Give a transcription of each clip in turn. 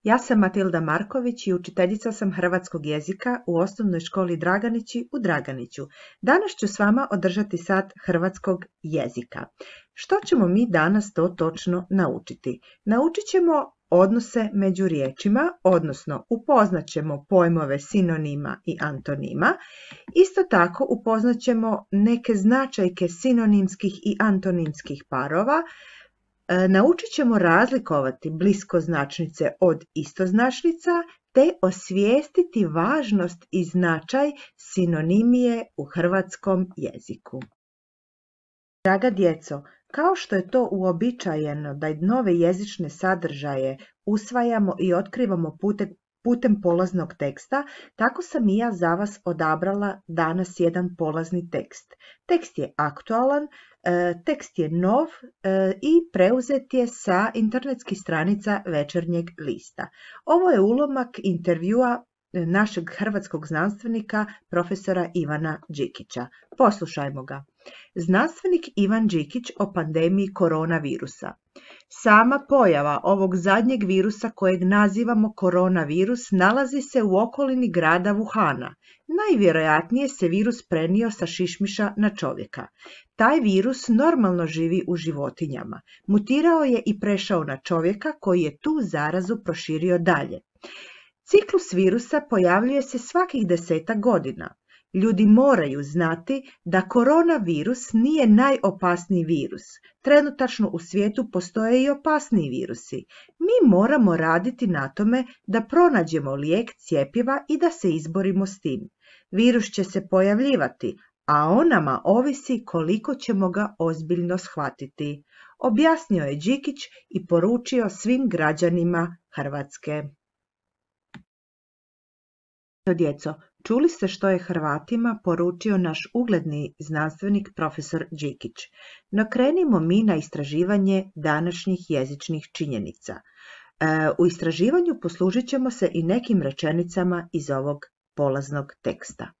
Ja sam Matilda Marković i učiteljica sam hrvatskog jezika u osnovnoj školi Draganići u Draganiću. Danas ću s vama održati sat hrvatskog jezika. Što ćemo mi danas to točno naučiti? Naučit ćemo odnose među riječima, odnosno upoznat ćemo pojmove sinonima i antonima. Isto tako upoznat ćemo neke značajke sinonimskih i antonimskih parova. Naučit ćemo razlikovati bliskoznačnice od istoznačnica te osvijestiti važnost i značaj sinonimije u hrvatskom jeziku. Draga djeco, kao što je to uobičajeno da nove jezične sadržaje usvajamo i otkrivamo putem polaznog teksta, tako sam i ja za vas odabrala danas jedan polazni tekst. Tekst je aktualan, tekst je nov i preuzet je sa internetskih stranica Večernjeg lista. Ovo je ulomak intervjua našeg hrvatskog znanstvenika, profesora Ivana Đikića. Poslušajmo ga. Znanstvenik Ivan Đikić o pandemiji koronavirusa. Sama pojava ovog zadnjeg virusa kojeg nazivamo koronavirus nalazi se u okolini grada Wuhana. Najvjerojatnije se virus prenio sa šišmiša na čovjeka. Taj virus normalno živi u životinjama. Mutirao je i prešao na čovjeka koji je tu zarazu proširio dalje. Ciklus virusa pojavljuje se svakih 10 godina. Ljudi moraju znati da koronavirus nije najopasniji virus. Trenutačno u svijetu postoje i opasniji virusi. Mi moramo raditi na tome da pronađemo lijek, cjepiva i da se izborimo s tim. Virus će se pojavljivati, a o nama ovisi koliko ćemo ga ozbiljno shvatiti, objasnio je Đikić i poručio svim građanima Hrvatske. Djeco, čuli ste što je Hrvatima poručio naš ugledni znanstvenik profesor Đikić. No krenimo mi na istraživanje današnjih jezičnih činjenica. U istraživanju poslužit ćemo se i nekim rečenicama iz ovog polaznog teksta.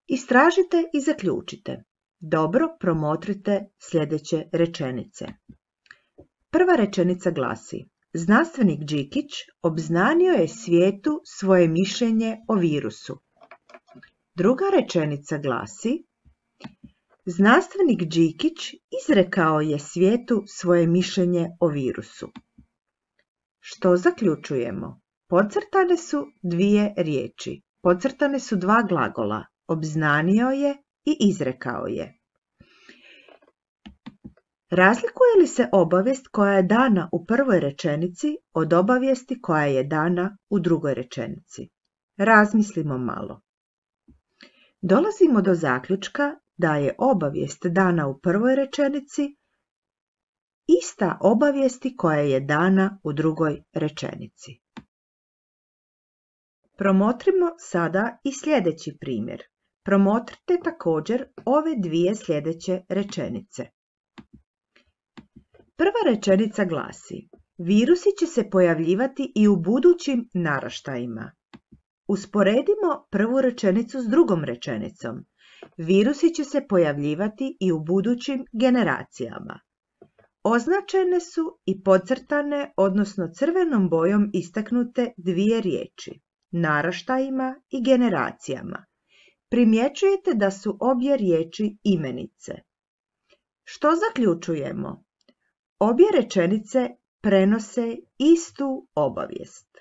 Istražite i zaključite. Dobro promotrite sljedeće rečenice. Prva rečenica glasi: znanstvenik Đikić obznanio je svijetu svoje mišljenje o virusu. Druga rečenica glasi: znanstvenik Đikić izrekao je svijetu svoje mišljenje o virusu. Što zaključujemo? Podcrtane su dvije riječi. Podcrtane su dva glagola. Obznanio je i izrekao je. Razlikuje li se obavijest koja je dana u prvoj rečenici od obavijesti koja je dana u drugoj rečenici? Razmislimo malo. Dolazimo do zaključka da je obavijest dana u prvoj rečenici ista obavijesti koja je dana u drugoj rečenici. Promotrimo sada i sljedeći primjer. Promotrite također ove dvije sljedeće rečenice. Prva rečenica glasi: virusi će se pojavljivati i u budućim naraštajima. Usporedimo prvu rečenicu s drugom rečenicom. Virusi će se pojavljivati i u budućim generacijama. Označene su i podcrtane, odnosno crvenom bojom istaknute dvije riječi: naraštajima i generacijama. Primjećujete da su obje riječi imenice. Što zaključujemo? Obje rečenice prenose istu obavijest.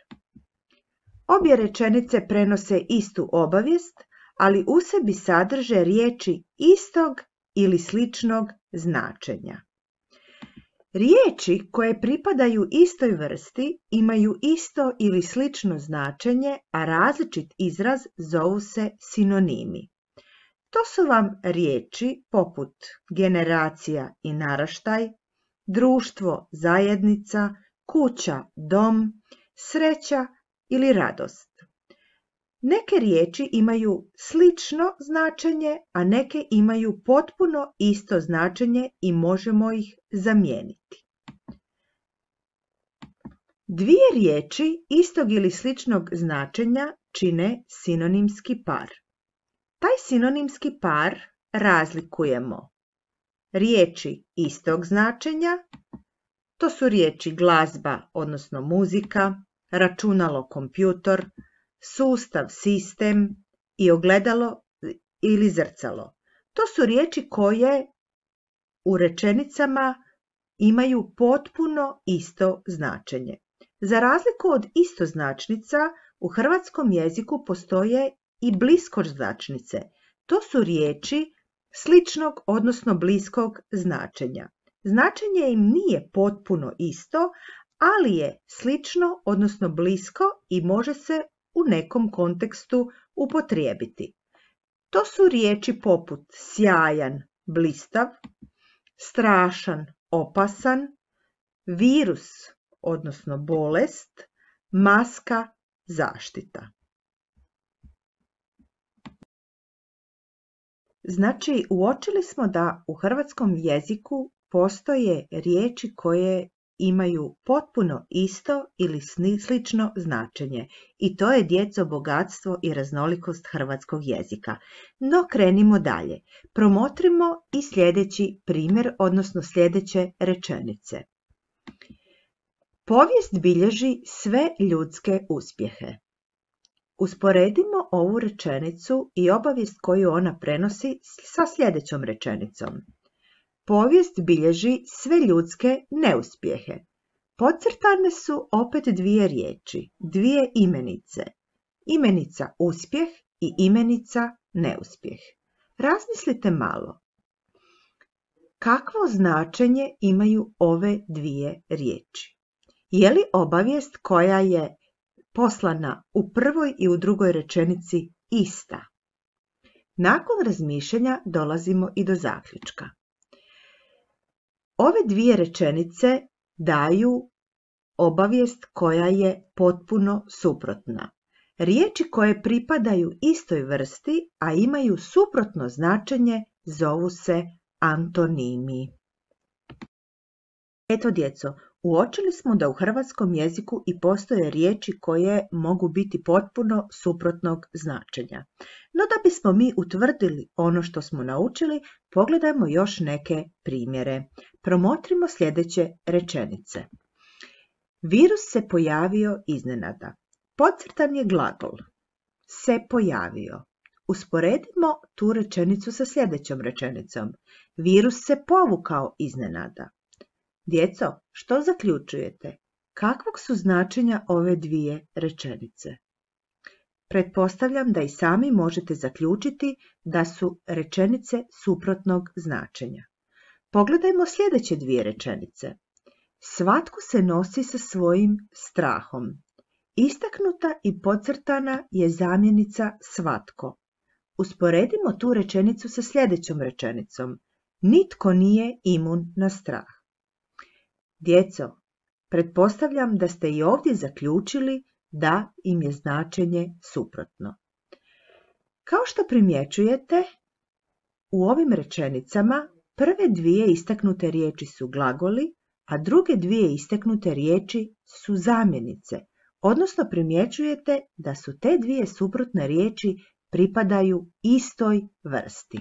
Obje rečenice prenose istu obavijest, ali u sebi sadrže riječi istog ili sličnog značenja. Riječi koje pripadaju istoj vrsti imaju isto ili slično značenje, a različit izraz zovu se sinonimi. To su vam riječi poput generacija i naraštaj, društvo, zajednica, kuća, dom, sreća ili radost. Neke riječi imaju slično značenje, a neke imaju potpuno isto značenje i možemo ih zamijeniti. Dvije riječi istog ili sličnog značenja čine sinonimski par. Taj sinonimski par razlikujemo. Riječi istog značenja, to su riječi glazba, odnosno muzika, računalo, kompjutor, sustav, sistem i ogledalo ili zrcalo. To su riječi koje u rečenicama imaju potpuno isto značenje. Za razliku od istoznačnica, u hrvatskom jeziku postoje i bliskoznačnice. To su riječi sličnog, odnosno bliskog značenja. Značenje im nije potpuno isto, ali je slično, odnosno blisko i može se u nekom kontekstu upotrijebiti. To su riječi poput sjajan, blistav, strašan, opasan, virus, odnosno bolest, maska, zaštita. Znači, uočili smo da u hrvatskom jeziku postoje riječi koje imaju potpuno isto ili slično značenje i to je, djeco, bogatstvo i raznolikost hrvatskog jezika. No krenimo dalje. Promotrimo i sljedeći primjer, odnosno sljedeće rečenice. Povijest bilježi sve ljudske uspjehe. Usporedimo ovu rečenicu i obavijest koju ona prenosi sa sljedećom rečenicom. Povijest bilježi sve ljudske neuspjehe. Podcrtane su opet dvije riječi, dvije imenice. Imenica uspjeh i imenica neuspjeh. Razmislite malo. Kakvo značenje imaju ove dvije riječi? Je li obavijest koja je poslana u prvoj i u drugoj rečenici ista? Nakon razmišljanja dolazimo i do zaključka. Ove dvije rečenice daju obavijest koja je potpuno suprotna. Riječi koje pripadaju istoj vrsti, a imaju suprotno značenje, zovu se antonimi. Eto, djeco, uočili smo da u hrvatskom jeziku i postoje riječi koje mogu biti potpuno suprotnog značenja. No da bismo mi utvrdili ono što smo naučili, pogledajmo još neke primjere. Promotrimo sljedeće rečenice. Virus se pojavio iznenada. Podcrtan je glagol. Se pojavio. Usporedimo tu rečenicu sa sljedećom rečenicom. Virus se povukao iznenada. Djeco, što zaključujete? Kakvog su značenja ove dvije rečenice? Pretpostavljam da i sami možete zaključiti da su rečenice suprotnog značenja. Pogledajmo sljedeće dvije rečenice. Svatko se nosi sa svojim strahom. Istaknuta i podcrtana je zamjenica svatko. Usporedimo tu rečenicu sa sljedećom rečenicom. Nitko nije imun na strah. Djeco, pretpostavljam da ste i ovdje zaključili da im je značenje suprotno. Kao što primjećujete, u ovim rečenicama prve dvije istaknute riječi su glagoli, a druge dvije istaknute riječi su zamjenice, odnosno primjećujete da su te dvije suprotne riječi pripadaju istoj vrsti.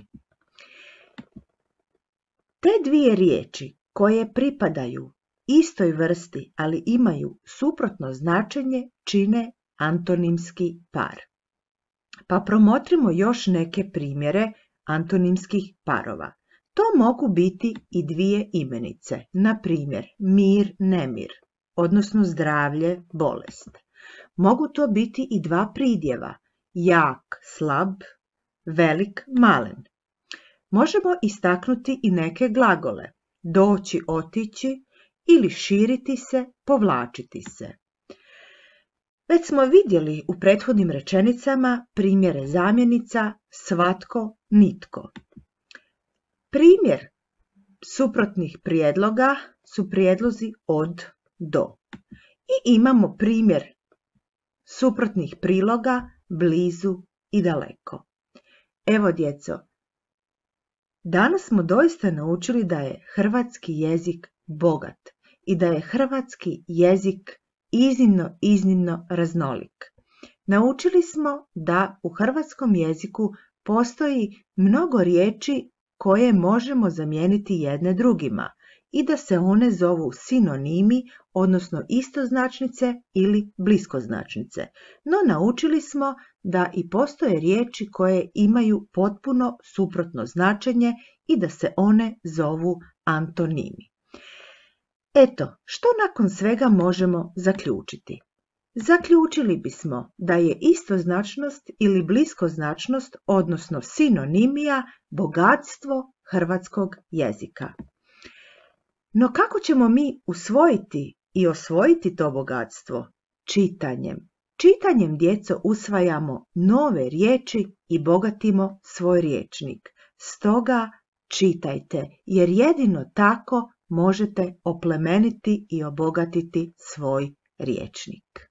Te dvije riječi koje pripadaju istoj vrsti, ali imaju suprotno značenje, čine antonimski par. Pa promotrimo još neke primjere antonimskih parova. To mogu biti i dvije imenice, na primjer mir, nemir, odnosno zdravlje, bolest. Mogu to biti i dva pridjeva, jak, slab, velik, malen. Možemo istaknuti i neke glagole, doći, otići ili širiti se, povlačiti se. Već smo vidjeli u prethodnim rečenicama primjere zamjenica svatko, nitko. Primjer suprotnih prijedloga su prijedlozi od, do. I imamo primjer suprotnih priloga blizu i daleko. Evo, djeco, danas smo doista naučili da je hrvatski jezik bogat i da je hrvatski jezik iznimno raznolik. Naučili smo da u hrvatskom jeziku postoji mnogo riječi koje možemo zamijeniti jedne drugima i da se one zovu sinonimi, odnosno istoznačnice ili bliskoznačnice. No naučili smo da i postoje riječi koje imaju potpuno suprotno značenje i da se one zovu antonimi. Eto, što nakon svega možemo zaključiti? Zaključili bismo da je istoznačnost ili bliskoznačnost, odnosno sinonimija, bogatstvo hrvatskog jezika. No kako ćemo mi usvojiti i osvojiti to bogatstvo? Čitanjem. Čitanjem, djeco, usvajamo nove riječi i bogatimo svoj rječnik. Stoga čitajte, jer jedino tako možete oplemeniti i obogatiti svoj rječnik.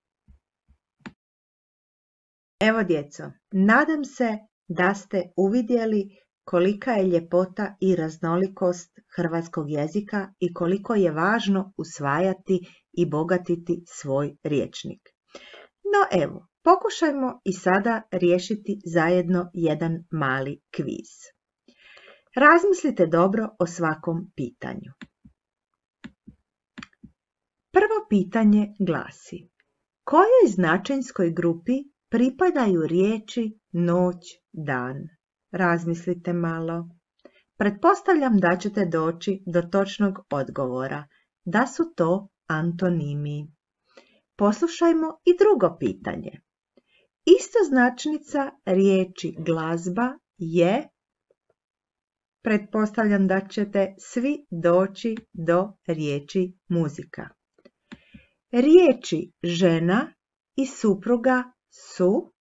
Evo, djeco, nadam se da ste uvidjeli kolika je ljepota i raznolikost hrvatskog jezika i koliko je važno usvajati i bogatiti svoj rječnik. No evo, pokušajmo i sada riješiti zajedno jedan mali kviz. Razmislite dobro o svakom pitanju. Prvo pitanje glasi: kojoj značenjskoj grupi pripadaju riječi noć, dan? Razmislite malo. Pretpostavljam da ćete doći do točnog odgovora, da su to antonimi. Poslušajmo i drugo pitanje. Istoznačnica riječi glazba je, pretpostavljam da ćete svi doći do riječi muzika. Riječi žena i supruga su,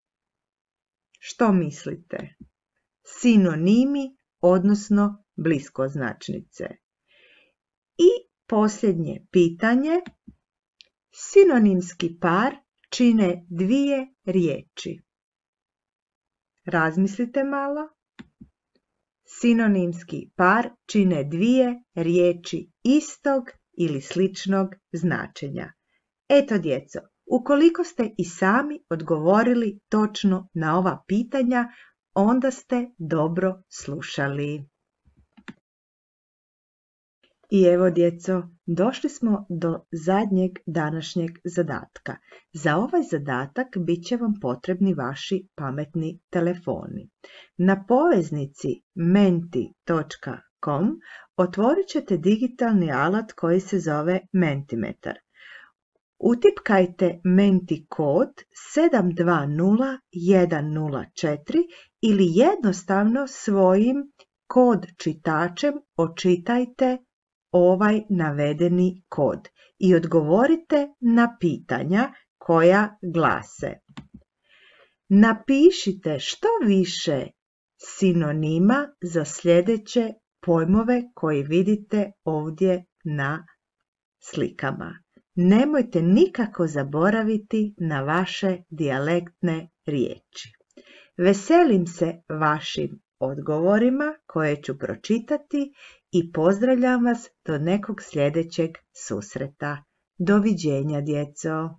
što mislite? Sinonimi, odnosno bliskoznačnice. I posljednje pitanje. Sinonimski par čine dvije riječi. Razmislite malo. Sinonimski par čine dvije riječi istog ili sličnog značenja. Eto, djeco, ukoliko ste i sami odgovorili točno na ova pitanja, onda ste dobro slušali. I evo, djeco, došli smo do zadnjeg današnjeg zadatka. Za ovaj zadatak bit će vam potrebni vaši pametni telefoni. Na poveznici menti.com otvorit ćete digitalni alat koji se zove Mentimetar. Utipkajte Menti kod 720104 ili jednostavno svojim kod čitačem očitajte ovaj navedeni kod i odgovorite na pitanja koja glase: napišite što više sinonima za sljedeće pojmove koje vidite ovdje na slikama. Nemojte nikako zaboraviti na vaše dijalektne riječi. Veselim se vašim odgovorima koje ću pročitati i pozdravljam vas do nekog sljedećeg susreta. Doviđenja, djeco!